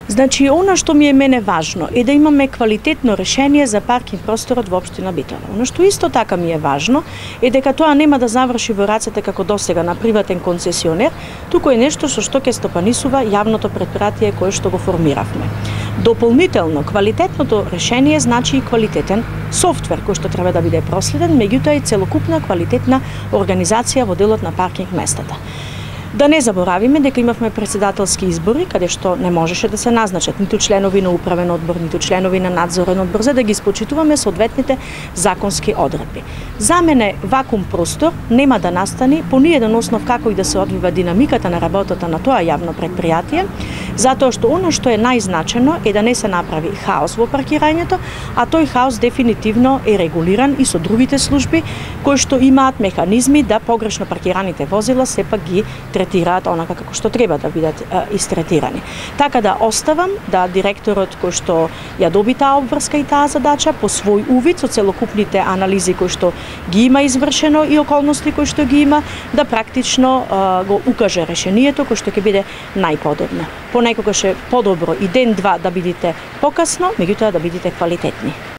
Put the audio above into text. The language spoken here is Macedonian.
Значи, она што ми е мене важно е да имаме квалитетно решение за паркинг просторот во општина Битола. Она што исто така ми е важно е дека тоа нема да заврши во рацете како досега на приватен концесионер, туку е нешто со што ќе стопанисува јавното претпријатие кое што го формиравме. Дополнително, квалитетното решение значи и квалитетен софтвер кој што треба да биде проследен, меѓутоа и целокупна квалитетна организација во делот на паркинг местата. Да не заборавиме дека имавме претседателски избори, каде што не можеше да се назначат ниту членови на управен одбор, ниту членови на надзорен одбор, за да ги испочитуваме соодветните законски одредби. За мене вакуум простор нема да настани по ниеден основ како и да се одвива динамиката на работата на тоа јавно претпријатие, затоа што оно што е најзначено е да не се направи хаос во паркирањето, а тој хаос дефинитивно е регулиран и со другите служби кои што имаат механизми да погрешно паркираните возила сепак ги третираат онака како што треба да бидат истретирани. Така да оставам да директорот кој што ја доби таа обврска и таа задача по свој увид со целокупните анализи кои што ги има извршено и околности кои што ги има, да практично го укаже решението кој што ќе биде најподобно. Понекогаш е подобро и ден-два да бидете покасно, меѓутоа да бидете квалитетни.